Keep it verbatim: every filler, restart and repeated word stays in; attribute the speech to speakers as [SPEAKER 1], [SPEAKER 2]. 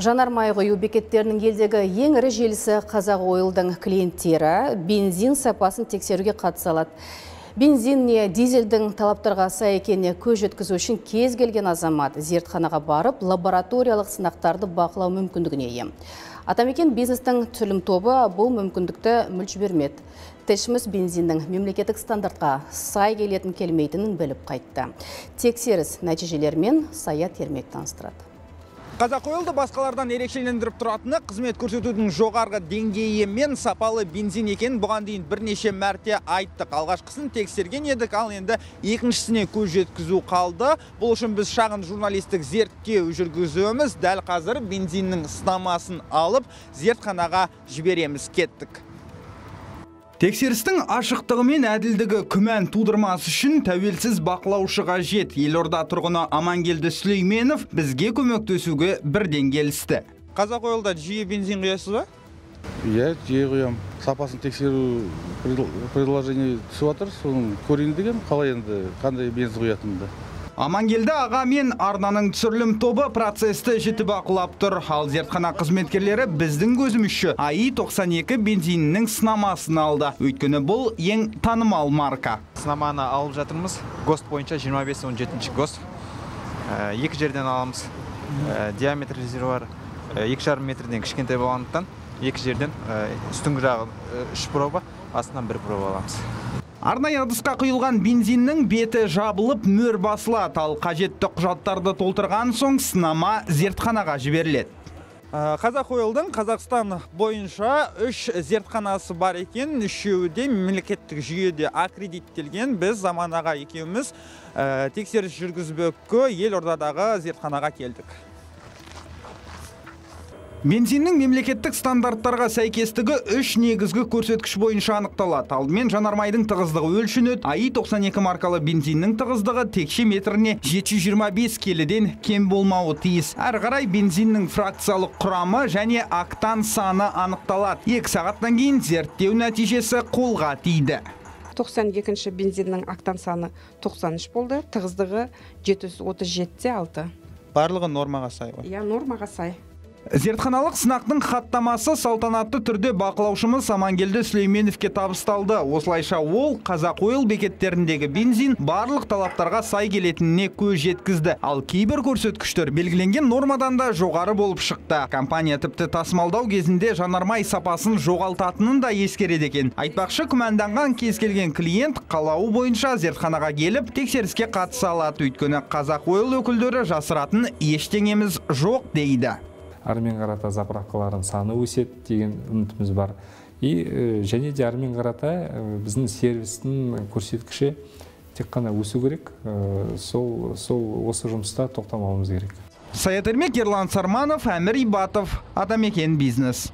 [SPEAKER 1] Жанармай құю бекеттерінің елдегі ең ірі желісі Қазақ Ойлдың клиенттері бензин сапасын тексеруге қатыса алады. Бензин не дизельдің талаптарға сай екеніне көз жеткізу үшін кез келген азамат зертханаға барып, лабораториялық сынақтарды бақылау мүмкіндігіне ие. Атамекен бизнестің түсірілім тобы бұл мүмкіндікті мүлт жібермеді. Тілшіміз бензиннің мемлекеттік стандартқа сай келетін келмейтінін біліп қайтты. Тексеріс нәтижелерімен Саят Ермек таныстырады.
[SPEAKER 2] Қазақ Ойлды басқалардан ерекшелендіріп тұратыны қызмет көрсетудің жоғарғы деңгейі мен сапалы бензин екенін бұған дейін бірнеше мәрте айттық. Алғашқысын тексерген едік, ал енді екіншісіне көз жеткізу қалды. Бұл үшін біз шағын журналистік зерттеу жүргізуіміз, дәл қазір бензиннің сынамасын алып, зертханаға жібереміз, кеттік. Тексерістің ашықтығы мен әділдігі күмән тудырмас үшін тәуелсіз бақылаушы қажет. Елорда тұрғыны Амангелді Сүлейменов бізге көмектесуге бірден келісті. Қазақ Ойлда жиі бензин құясыз ба?
[SPEAKER 3] Иә, жиі құям. Сапасын тексеру предложение түсіп жатыр, соны көрейін деген, қалай енді қандай бензин құятынды.
[SPEAKER 2] Амангелді аға мен арнаның түсірілім тобы процесті жіті бақылап тұр. Ал зертхана қызметкерлері біздің көзімізше АИ тоқсан екі бензинінің сынамасын алды. Өйткені бұл ең танымал марка.
[SPEAKER 4] Сынаманы алып жатырмыз. ГОСТ бойынша жиырма бес он жетінші ГОСТ. Екі жерден аламыз. Диаметр резервуар екі жарым метрден кішкентай болғандықтан екі жерден үстіңгі жағы үш проба, астынан бір проба аламыз.
[SPEAKER 2] Арнайы ыдысқа құйылған бензиннің беті жабылып мөр басылады, ал қажетті құжаттарды толтырған соң сынама зертханаға жіберіледі. Қазақ Ойлдың Қазақстан бойынша үш зертханасы бар екен, үшеуі де мемлекеттік жүйеде аккредиттелген. Біз Заман аға екеуміз тексеріс жүргізбекке Елордадағы зертханаға келдік. Бензиннің мемлекеттік стандарттарға сәйкестігі үш негізгі көрсеткіш бойынша анықталады. Алдымен жанармайдың тығыздығы өлшенеді. АИ тоқсан екі маркалы бензиннің тығыздығы текше метріне жеті жүз жиырма бес келіден кем болмауы тиіс. Әрі қарай бензиннің фракциялық құрамы және октан саны анықталады. Екі сағаттан кейін зерттеу нәтижесі қолға тиді.
[SPEAKER 5] тоқсан екінші бензиннің октан саны тоқсан үш болды, тығыздығы жеті жүз отыз жеті де алты.
[SPEAKER 2] Барлығы нормаға сай ғой?
[SPEAKER 5] Иә, нормаға сай.
[SPEAKER 2] Зертханалық сынақтың хаттамасы салтанатты түрде бақылаушымыз Амангелді Сүлейменовке табысталды. Осылайша ол Қазақ Ойл бекеттеріндегі бензин барлық талаптарға сай келетініне көз жеткізді. Ал кейбір көрсеткіштер белгіленген нормадан да жоғары болып шықты. Компания тіпті тасымалдау кезінде жанармай сапасын жоғалтатынын да ескереді екен. Айтпақшы, күмәнданған кез келген клиент қалауы бойынша зертханаға келіп тексеріске қатыса алады. Өйткені Қазақ Ойл өкілдері жасыратын ештеңеміз жоқ дейді.
[SPEAKER 6] Армен қарата заправкалардың саны өседі деген үмітіміз бар. И және де армен қарата біздің сервистің көрсеткіші тек қана өсу керек. Сол сол осы жұмыста тоқтамауымыз керек.
[SPEAKER 2] Саят Ермек, Ерлан Сарманов, Әмір Ибатов, Атамекен бизнес.